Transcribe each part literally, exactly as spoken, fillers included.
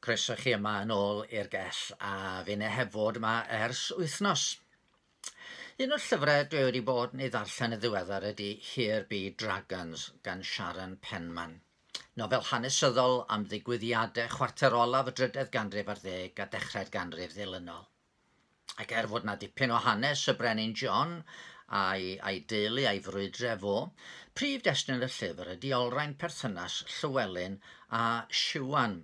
Croeso chi yma yn ôl i'r gell a finne heb fod yma ers wythnos. Un o'r llyfrau dwi wedi bod yn ei ddarllen yn ddiweddar ydy Here Be Dragons gan Sharon Penman. Nofel hanesyddol am ddigwyddiadau chwarter olaf y drydedd ganrif ar ddeg a dechrau'r ganrif ddilynol. Ac er fod 'na dipyn o hanes y Brenin John a'i, a'i deulu a'i frwydre fo, prif destun y llyfr ydy olrhain perthynas Llywelyn a Siwan,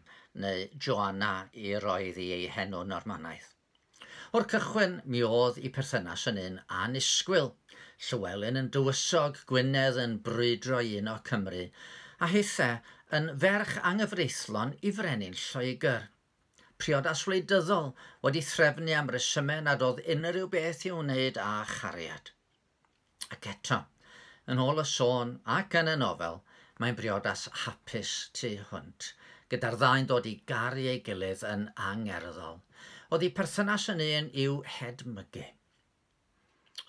neu Joanna i roedd i ei henw Normanaidd. O'r cychwyn, mi oedd i perthynas yn un annisgwyl. Llywelyn yn dywysog, Gwynedd yn brwydro i uno Cymru, a hithe yn ferch anghyfreithlon i frenin Lloegr. Priodas wleidyddol wedi threfnu am resymau nad oedd unrhyw beth i'w wneud â chariad. Ac eto, yn ôl y sôn ac yn y nofel, mae'n briodas hapus tu hwnt, gyda'r ddau'n dod i garu ei gilydd yn angerddol. Oedd eu perthynas yn un i'w hedmygu.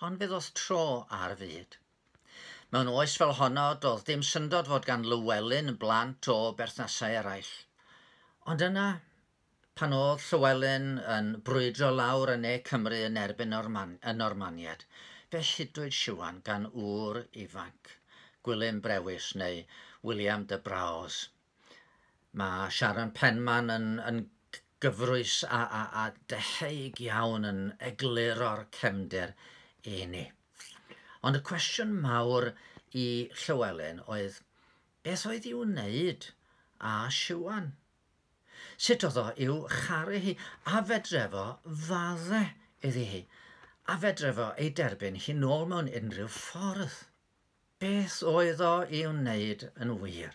Ond fe ddoth tro ar fyd. Mewn oes fel honno, doedd dim syndod fod gan Lywelyn blant o berthnasau eraill. Ond yna, pan oedd Llywelyn yn brwydro lawr yn ne Cymru yn erbyn Norman, y Normaniad, fe hudwyd Siwan gan ŵr ifanc, Gwilym Brewis neu William de Braose. Mae Sharon Penman yn, yn gyfrwys a, a, a deheig iawn yn egluro'r cefndir i ni. Ond y cwestiwn mawr i Llywelyn oedd, beth oedd i'w wneud â Siwan? Sut oedd o i'w charu hi, a fedre fo fadde iddi hi, a fedre fo ei derbyn hi nôl mewn unrhyw ffordd? Beth oedd o i'w wneud yn wir?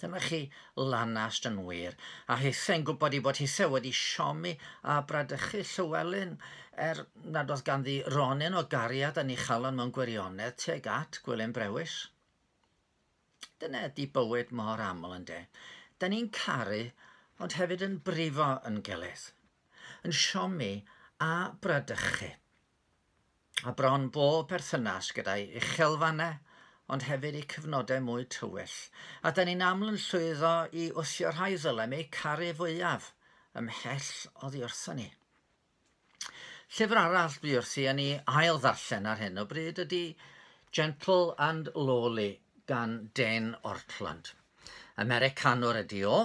Dyma chi lanast yn wir, a hithe'n gwybod i bod hithe wedi siomi a bradychu Llywelyn, er nad oedd ganddi ronyn o gariad yn ei chalon mewn gwirionedd tuag at Gwilym Brewis. Dyna ydy bywyd mor aml ynde. Da ni'n caru, ond hefyd yn brifo yn gilydd, yn siomi a bradychu. A bron bob perthynas gyda'i uchelfannau, ond hefyd i cyfnodau mwy tywyll. A da ni'n aml yn llwyddo i wthio rhai ddylem eu caru fwyaf ymhell oddi wrthon ni. Llyfr arall dwi wrthi yn ei ail ddarllen ar hyn o bryd ydy Gentle and Lowly gan Dane Ortlund. Americanwr ydy o,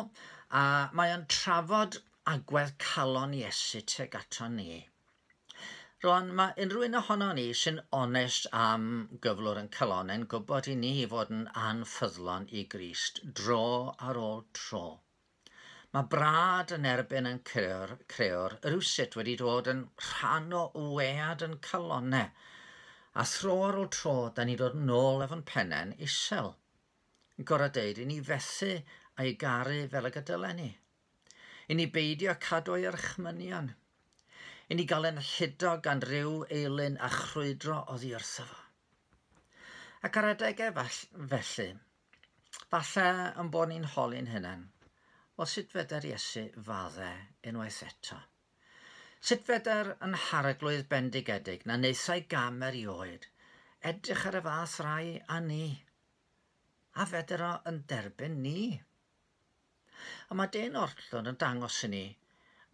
a mae o'n trafod agwedd calon Iesu tuag ato ni. Rwan, mae unrhyw un ohono ni sy'n onest am gyflwr yn calonnau'n gwybod i ni fod yn anffyddlon i Grist dro ar ôl tro. Mae brad yn erbyn yn creor, creor rywsut wedi dod yn rhan o wead yn calonnau, a thro ar ôl tro, da ni dod nôl efo'n pennau'n isel. Yn gorau deud i ni fethu a'i garu fel y gydylen ni. I ni beidio cadw ei orchmynion. I ni gael ein hudo gan ryw eilun a chrwydro oddi wrtho fo. Ac ar adegau felly, falle yn bod ni'n holi'n hunain, wel sut fedr Iesu fadde unwaith eto? Sut fedr yn harglwydd bendigedig na wnaethai gam erioed edrych ar y fath rai a ni? A fedr o yn derbyn ni? A mae Dane Ortlund yn dangos i ni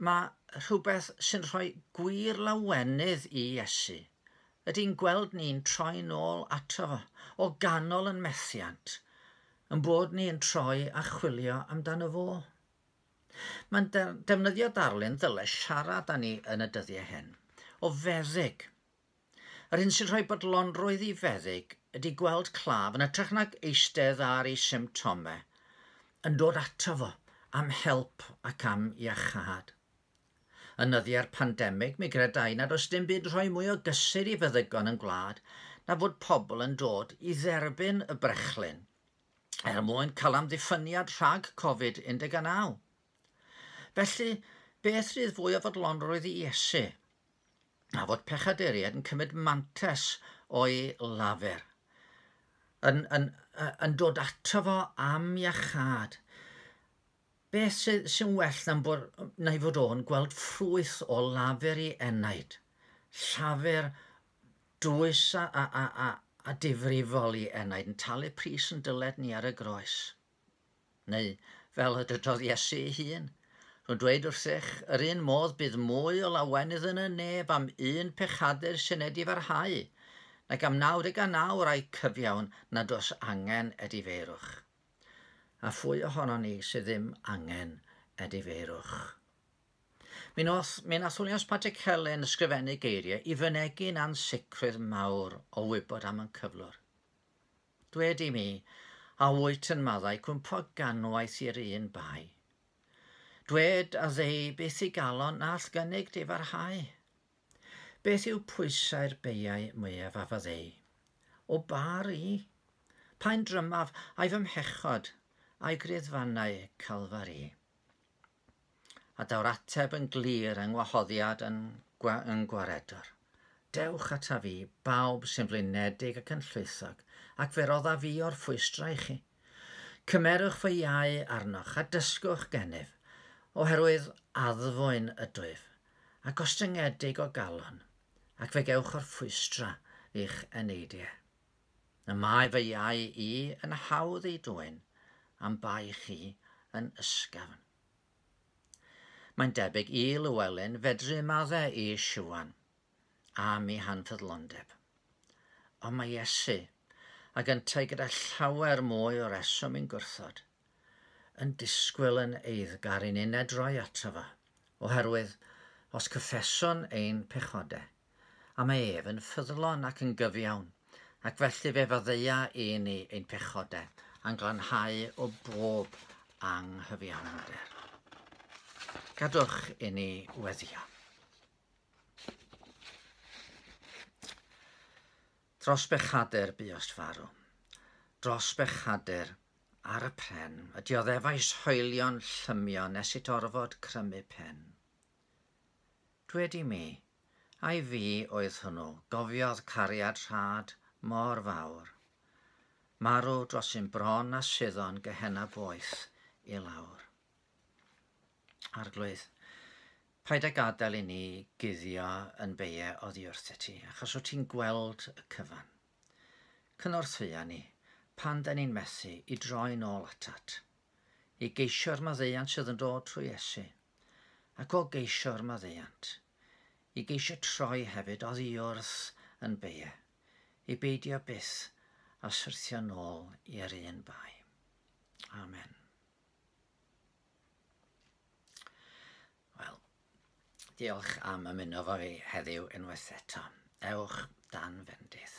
mae rhywbeth sy'n rhoi gwir lawenydd i Iesu ydy'n gweld ni'n troi nôl ato fo, o ganol yn methiant, yn bod ni yn troi a chwilio amdano fo. Mae'n defnyddio darlun ddyle siarad â ni yn y dyddiau hyn, o feddyg. Yr hyn sy'n rhoi bodlonrwydd i feddyg ydy gweld claf yn hytrach nag eistedd ar ei symptomau, yn dod ato fo am help ac am iachâd. Yn nyddiau'r pandemig, mi gredai nad oes dim byd rhoi mwy o gysur i feddygon yn gwlad na fod pobl yn dod i dderbyn y brechlyn er mwyn cael amddiffyniad rhag Covid un deg naw. Felly, beth rydd fwy o fodlonrwydd i Iesu? Na fod pechaduriaid yn cymryd mantes o'i lafur, yn, yn, yn dod ato fo am iachâd. Beth sy'n sy well na'n bod, na i fod o'n gweld ffrwyth o lafur i enaid, llafur dwys a, a, a, a, a difrifol i enaid yn talu pris yn dyled ni ar y groes. Neu Fel y dydodd Iesu ei hun. Rwy'n dweud wrthych, yr un modd bydd mwy o lawenydd yn y nef am un pechadur sy'n edifarhau, nag am naw deg a naw rai cyfiawn nad oes angen edifeirwch. A phwy ohonon ni sydd ddim angen edifeirwch? Mi nath, mi nath Williams Pantycelyn ysgrifennu geiriau i fynegi'n ansicrwydd mawr o wybod am ein cyflwr. Dwed i mi, a wyt yn maddau cwympo ganwaith i'r un bai. Dwed a ddei beth i galon na all gynnig difarhau. Beth yw pwysau'r beiau mwyaf a faddei? O bar i? Pa'n drymaf a'i fy mhechod a'i griddfannau Calfari? A daw'r ateb yn glir yng ngwahoddiad yn, gwa, yn gwaredwr. Dewch ata fi, bawb sy'n flinedig ac yn llwythog, ac fe rodda fi o'r ffwystra i chi. Cymerwch fy iau arnoch a dysgwch gennyf, oherwydd addfwyn ydwyf, a gostyngedig o galon, ac fe gewch o'r ffwystra i'ch eneidiau. Y mae fy iau i yn hawdd ei dwyn, am bai chi yn ysgafn. Mae'n debyg i Lywelyn fedru maddau i Siwan am ei hanffyddlondeb. Ond mae Iesu, ac yntau gyda llawer mwy o reswm i'n gwrthod, yn disgwyl yn eiddgar i ni'n droi ato fo, oherwydd os cyffeswn ein pechodau, a mae ef yn ffyddlon ac yn gyfiawn, ac felly fe faddeia i ni ein pechodau, a'n glanhau o bob anghyfiawnder. Gadwch i ni weddio. Dros bechadur buost farw, dros bechadur ar y pren, y dioddefais hoelion llymion nes it orfod crymu pen. Dwed i mi, ai fi oedd hwnnw, gofiodd cariad rhad mor fawr, marw dros un bron a suddon Gehenna boeth i lawr. Arglwydd, paid â gadael i ni guddio yn beiau oddi wrthyt ti, achos wyt ti'n gweld y cyfan. Cynorthwya ni, pan da ni'n methu, i droi nôl atat, i geisio'r maddeuant sydd yn dod trwy Iesu, ac o geisio'r maddeuant, i geisio troi hefyd oddi wrth yn beiau, i beidio byth a syrthio nôl i'r un bai. Amen. Wel, diolch am ymuno fo fi heddiw unwaith eto. Ewch dan fendith.